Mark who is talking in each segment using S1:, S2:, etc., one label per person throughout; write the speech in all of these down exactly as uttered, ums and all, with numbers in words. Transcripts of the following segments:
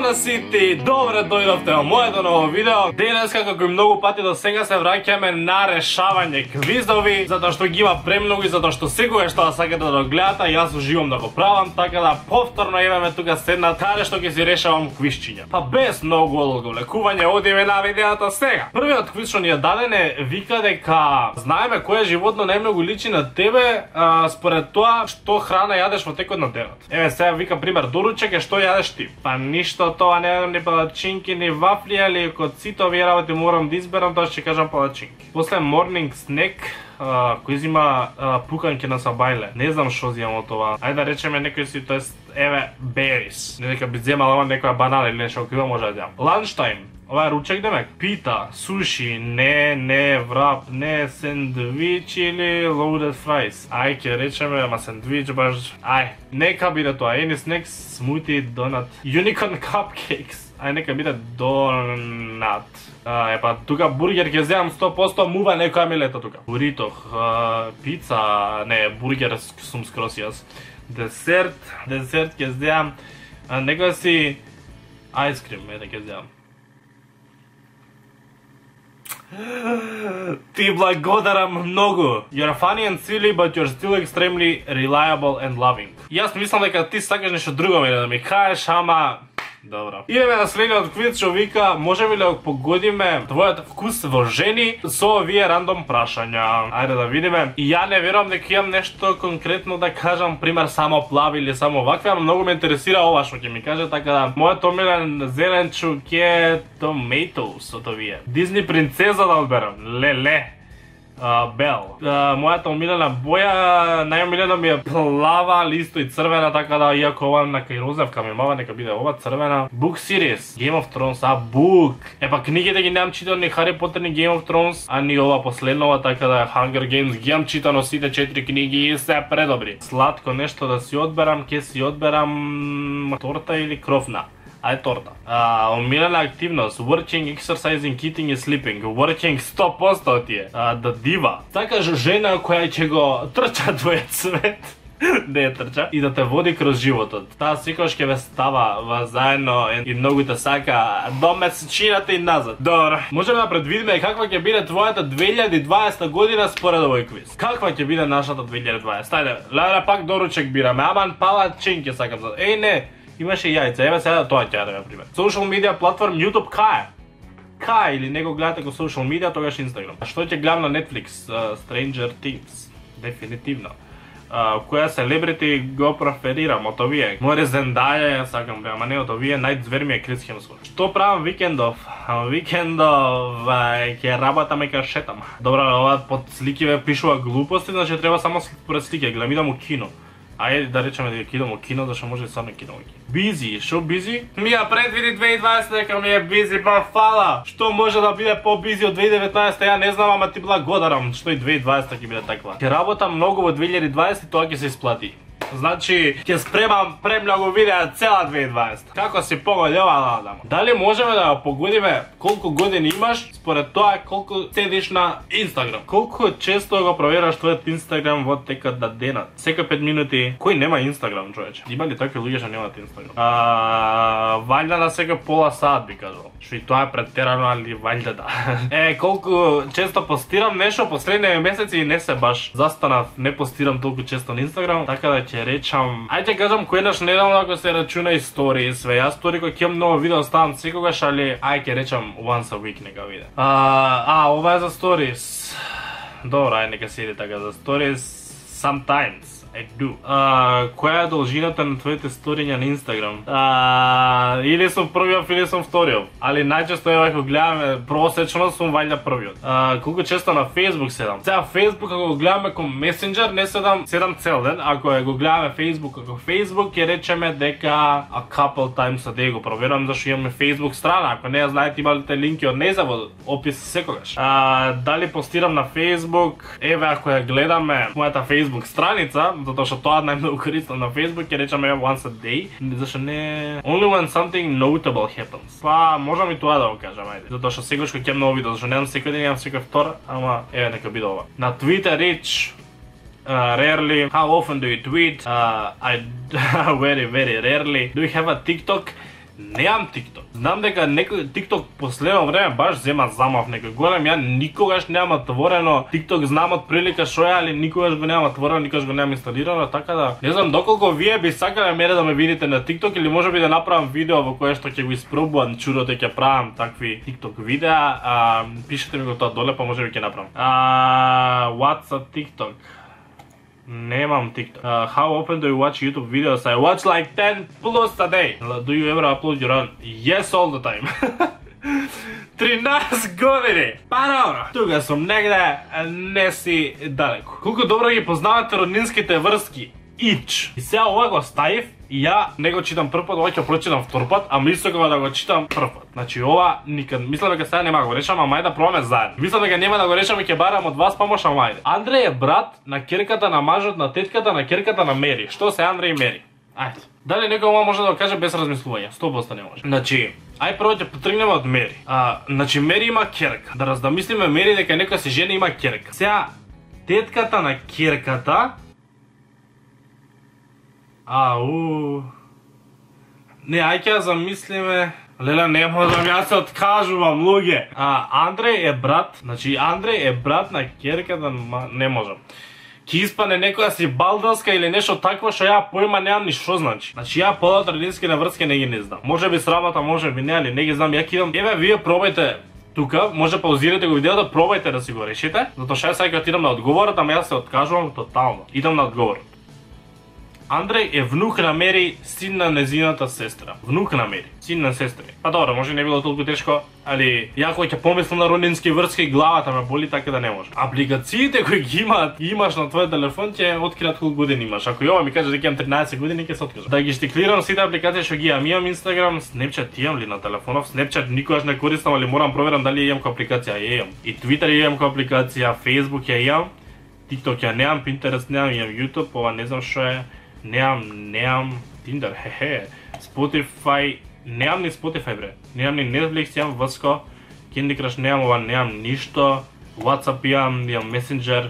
S1: Здрава сите, добре дојдовте во моето ново видео. Денеска, како и многу пати до сега, се враќаме на решавање квизови, затоа што ги има премногу и затоа што секогаш што сакате да го гледате, јас уживам да го правам, така да повторно имаме тука седнат каде што ќе си решавам квизчиња. Па без многу одговлекување, одиме на видеото сега. Првиот квиз што ни е даден е вика дека знаеме кое животно најмногу личи на тебе а, според тоа што храна јадеш во текот на денот. Еве сега вика пример доручек е што јадеш ти. Па ништо тоа, не ни палачинки, ни вафли, али кod сите овие работи морам да изберам, тоа ќе кажам палачинки. После morning snack, uh, кој зима uh, пуканки на сабајле. Не знам што зимам од това. Ајде да речеме некој си, тоест, еве, berries. Не дека би земала некоја банана или нешто, кој може да јам. Lunchtime. Ова е ручек демек. Пита, суши, не, не, врап, не, сендвич или loaded fries. Ај, ќе речеме, ама сендвич баш... Ај, нека биде тоа. Any snacks, smoothie, donut. Unicorn cupcakes. Ај, нека биде donut. А, епа, тука бургер ќе земам сто проценти, мува некоја ми лета тука. Бурито, пица, не, бургер сум скрос јас. Десерт, десерт ќе земам. Некоја си... Айскрим, ете ќе земам. Ти благодарам многу. You're funny and silly, but you're still extremely reliable and loving. Јас мислам дека ти сакаш нешто друго мене да ми кажеш, ама... Добро. Идеме на следниот квиз што вика, можеме ли да погодиме твојот вкус во жени со овие рандом прашања. Ајде да видиме. И ја не верувам дека имам нешто конкретно да кажам, пример само плави или само вакви, ама многу ме интересира ова што ќе ми каже, така да мојот омилен зеленчук е tomatoes од овие. Дизни принцеза да одберам. Леле. Uh, Бел. Uh, мојата омилена боја, најомилена ми е плава, листо и црвена, така да иако ова нека и розовка ми мава, нека биде ова црвена. Book series, Game of Thrones, а book. Епа книгите ги немам читано ни Harry Potter ни Game of Thrones, а ни ова последнова, така да Hunger Games ги имам читано сите четири книги и се предобри. Сладко нешто да си одберам, ке си одберам торта или кровна. Ајде торта. Uh, омилена активност, working, exercising, eating и sleeping. Working сто проценти тие. Uh, да дива. Сакаш жена која ќе го трча твојот свет. Не е трча. И да те води кроз животот. Таа секогаш ќе ве става ва заедно и многу те сака до месечината и назад. Добро. Можеме да предвидиме каква ќе биде твојата две илјади и дваесета година според овој квиз. Каква ќе биде нашата две илјади и дваесета? Ајде, леле пак доручек бираме. Аман палачинки сакам за. Еј не. Имаше јајца, еве сега тоа ќе дадеме пример. Social media платформ YouTube кај? Кај или него гледате го social media, тогаш Instagram. А што ќе гледам на Netflix? Uh, Stranger Things. Дефинитивно. Uh, која селебрити го преферирам од овие? Море Зендаја, сакам бе, ама не од овие, најдзвер ми е Крис Хемсворт. Што правам викендов? Викендов ќе работаме ка шетам. Добро, ова под слики ве пишува глупости, значи треба само според слики, гледам идам у кино. Ајде да речеме дека идам во кино, зашто може да сам кино во кино. Бизи, шо бизи? Ми ја предвиди две илјади и дваесета дека ми е бизи, па фала. Што може да биде по-бизи од две илјади и деветнаесета, ја не знам, ама ти благодарам што и две илјади и дваесета ќе биде таква. Ќе работам многу во две илјади и дваесета, тоа ќе се исплати. Значи, ќе спремам премногу видеа цела две илјади и дваесета. Како си погоди ова да Дали можеме да погодиме колку години имаш според тоа колку седиш на Инстаграм? Колку често го провераш твојот Инстаграм во текот на денот? Секој пет минути. Кој нема Инстаграм, човече? Има ли такви луѓе што немаат Инстаграм? А, ваljda на секој пола сат би кажал. Што и тоа е претерано, али ваljda да. Е, колку често постирам нешто последниве месеци и не се баш застанав, не постирам толку често на Инстаграм, така да ќе речам, ајде кажам којнаш неделно ако се рачуна и стори, све. Јас стори кој ќе имам ново видео ставам секогаш, али ајде ќе речам once a week нека биде. А, а ова е за stories. Добро, ајде нека се иде така за stories. Sometimes I do. Uh, која е должината на твоите сториња на Инстаграм? Uh, или сум првиот или сум вториот. Али најчесто е ако гледаме просечно сум ваljda првиот. Uh, колку често на Facebook седам? Сега Facebook ако го гледаме како Messenger не седам седам цел ден. Ако го гледаме Facebook како Facebook ќе речеме дека a couple times a day го проверувам зашто имаме Facebook страна. Ако не ја знаете ималите линки од нејза во опис секогаш. Uh, дали постирам на Facebook? Еве ако ја гледаме мојата Facebook страница, затоа што тоа најмногу користам на Facebook, ќе речеме once a day, зашто не only when something notable happens. Па можам и тоа да го кажам, ајде. Затоа што секогаш кога ќе имам ново видео, зашто немам секој ден, имам секој втор, ама еве нека биде ова. На Twitter reach uh, rarely. How often do you tweet? Uh, I very very rarely. Do you have a TikTok? Неам TikTok. Знам дека некој TikTok последно време баш зема замав некој голем. Ја никогаш немам отворено TikTok, знам од прилика шо е, али никогаш го немам отворено, никогаш го немам инсталирано, така да не знам доколку вие би сакале мене да ме видите на TikTok или можеби да направам видео во кое што ќе го испробувам чудото ќе правам такви TikTok видеа. А, пишете ми го тоа доле, па можеби ќе направам. А, what's a TikTok? Немам TikTok. Uh, how often do you watch YouTube videos? I watch like ten plus a day. Do you ever upload your own? Yes, all the time. тринаесет години. Па добро. Тука сум негде, не си далеко. Колку добро ги познавате роднинските врски? Ич. И сега ова го ставив и ја не го читам прв пат, ова ќе прочитам втор пат, а мислам да го читам прв пат. Значи ова никад, мислам дека сега нема го решам, ама мај да пробаме заедно. Мислам дека нема да го решам и ќе барам од вас помош, ама ајде. Андреј е брат на ќерката на мажот на тетката на ќерката на Мери. Што се Андреј и Мери? Ајде. Дали некој ова може да го каже без размислување? сто проценти не може. Значи, ај прво ќе потргнеме од Мери. А, значи Мери има ќерка. Да раздамислиме Мери дека некоја се жена има ќерка. Сега тетката на ќерката Ау. Не, ај ќе замислиме. Леле, не можам, јас се откажувам, луѓе. А, Андреј е брат, значи Андреј е брат на ќерката, не можам. Ќе испане некоја си балданска или нешто такво што ја појма немам ни што значи. Значи ја полат родински на врски не ги не знам. Може би срамота, може би не, али не ги знам. Ја кидам. Еве вие пробајте тука, може паузирате го видеото, пробајте да си го решите, затоа што ја сега ќе идам на одговорот, ама јас се откажувам тотално. Идам на одговорот. Андреј е внук на Мери, син на незината сестра. Внук на Мери, син на сестра. Па добро, може не било толку тешко, али ја кога ќе помислам на роднински врски, главата ме боли, така да не може. Апликациите кои ги имаат, имаш на твојот телефон, ќе откријат колку години имаш. Ако и ова ми каже дека имам тринаесет години, ќе се откажам. Да ги штиклирам сите апликации што ги имам. Имам Instagram, Snapchat имам ли на телефонов? Snapchat никогаш не користам, али морам проверам дали имам која апликација. Ја имам. И Twitter имам која апликација, Facebook ја имам, TikTok ја немам, Pinterest немам, имам YouTube, ова не знам што е. Неам, неам Tinder, хе-хе, Spotify, неам ни Spotify бре, неам ни Netflix, имам Врско, Candy Crush неам, ова неам ништо, WhatsApp имам, имам Messenger,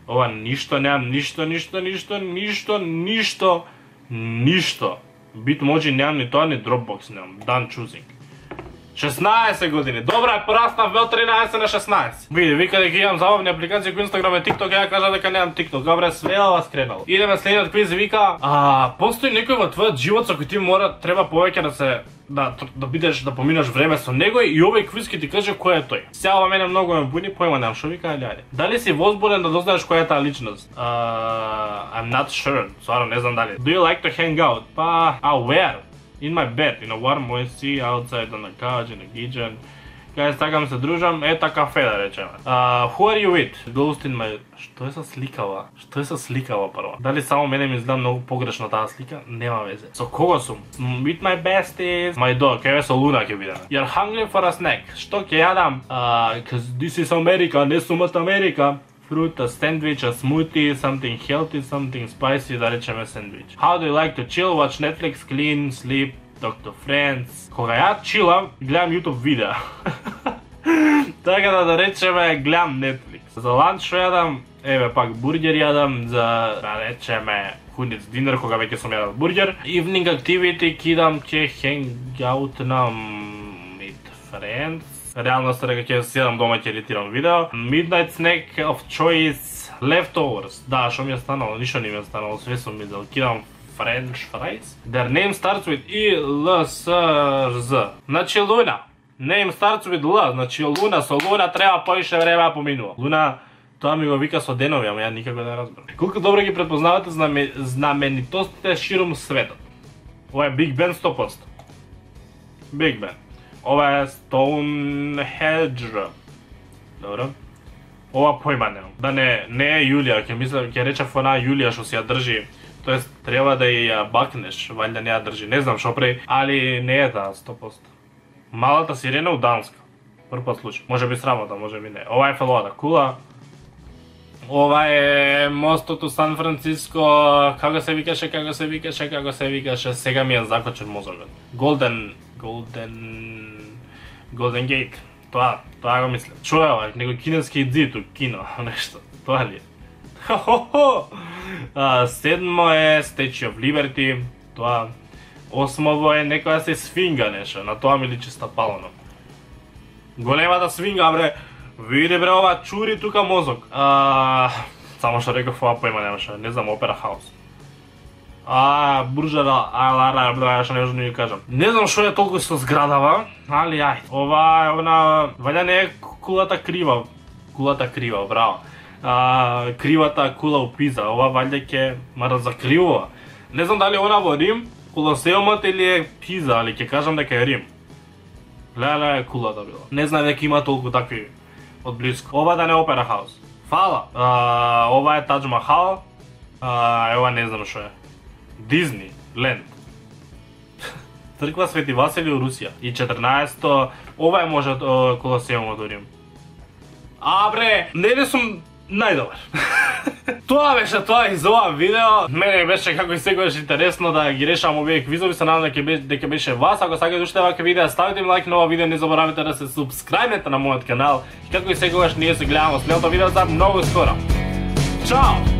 S1: ова ништо неам, ништо, ништо, ништо, ништо, ништо, ништо. Bitmoji неам ни тоа, ни Dropbox неам, done choosing. шеснаесет години. Добра, пораснав од тринаесет на шеснаесет. Види, вика дека имам забавни апликации кои Instagram и TikTok, ја кажа дека немам TikTok. Добре, све ова скренало. Идеме следниот квиз, вика, а постои некој во твојот живот со кој ти мора треба повеќе да се да да бидеш да поминаш време со него и овој квиз ќе ти каже кој е тој. Сега ова мене многу ме буни, појма немам што вика, али ајде. Дали си возбуден да дознаеш која е таа личност? Uh, I'm not sure. Стварно не знам дали. Do you like to hang out? Па, а where? In my bed, in a warm sea, outside on the couch, in a kitchen. Кај сакам се дружам, ета кафе да речеме. Uh, who are you with? Ghost in my... Што е со сликава? Што е со сликава прво? Дали само мене ми изгледа многу погрешно таа слика? Нема везе. Со кого сум? With my besties. My dog, кај со Луна ќе бидеме. You're hungry for a snack. Што ќе јадам? Uh, cause this is America, не сум од Америка. Fruit, a sandwich, a smoothie, something healthy, something spicy, да речеме sandwich. How do you like to chill, watch Netflix, clean, sleep, talk to friends? Кога ја чилам, гледам YouTube видеа. Така да да речеме, гледам Netflix. За ланч што јадам, еве пак бургер јадам, за да речеме хуниц динер кога веќе сум јадал бургер. Evening activity, кидам ќе hang out на meet friends. Реално се дека ќе седам дома ќе едитирам видео. Midnight snack of choice, leftovers. Да, што ми е станало, ништо не ми е станало, све сум мислел. Кидам French fries. Their name starts with I, L, S, Z. Значи Луна. Name starts with L, значи Луна, со Луна треба поише време поминува. Луна, тоа ми го вика со денови, ама ја никако не разберам. Колку добро ги претпознавате знаме, знаменитостите ширум светот? Ова е Big Ben сто проценти. Big Ben. Ова е Stonehenge. Добро. Ова појма немам. Да не не е Јулија, ќе мислам, ќе речев она Јулија што се ја држи. Тоест треба да ја бакнеш, валјда не ја држи. Не знам што прави, али не е таа сто проценти. Малата сирена од Данска. Прв пат случај. Може би срамота, може би не. Ова е Фелода кула. Ова е мостот у Сан Франциско, како се викаше, како се викаше, како се викаше, сега ми е закочен мозокот. Golden, Golden, Golden Gate. Тоа, тоа го мислам. Чуја ова, некој кинески зид у кино, нешто. Тоа ли е? Хо-хо-хо! Седмо е Statue of Liberty, тоа. Осмово е некоја се свинга нешто, на тоа ми личи стапалено. Големата свинга, бре, види бре ова чури тука мозок. А, само што реков ова поима немаше, не знам, Опера Хаус. А, буржара, ала, бла, што не можам да ја кажам. Не знам што е толку со зградава, али ај. Ова е она, ваља не е кулата крива, кулата крива, браво. А, кривата кула у Пиза, ова ваља ќе ма разакривува. Не знам дали она во Рим, Колосеумот или е Пиза, али ќе кажам дека е Рим. Леле, кулата била. Не знам дека има толку такви од близко. Ова да не е Опера Хаус. Фала. А, ова е Тадж Махал. А, ева не знам што е. Дизни, Ленд. Црква Свети Васили у Русија. И четрнаесетто, ова е може Колосеумот у Рим. А бре, не ли сум најдобар. Тоа беше тоа и за ова видео. Мене беше како и секогаш интересно да ги решам овие квизови, се надам дека беше, дека беше вас. Ако сакате уште вакви видеа, ставите ми лайк на ова видео, не заборавите да се субскрајбнете на мојот канал. И како и секогаш ние се гледаме во следното видео за многу скоро. Чао!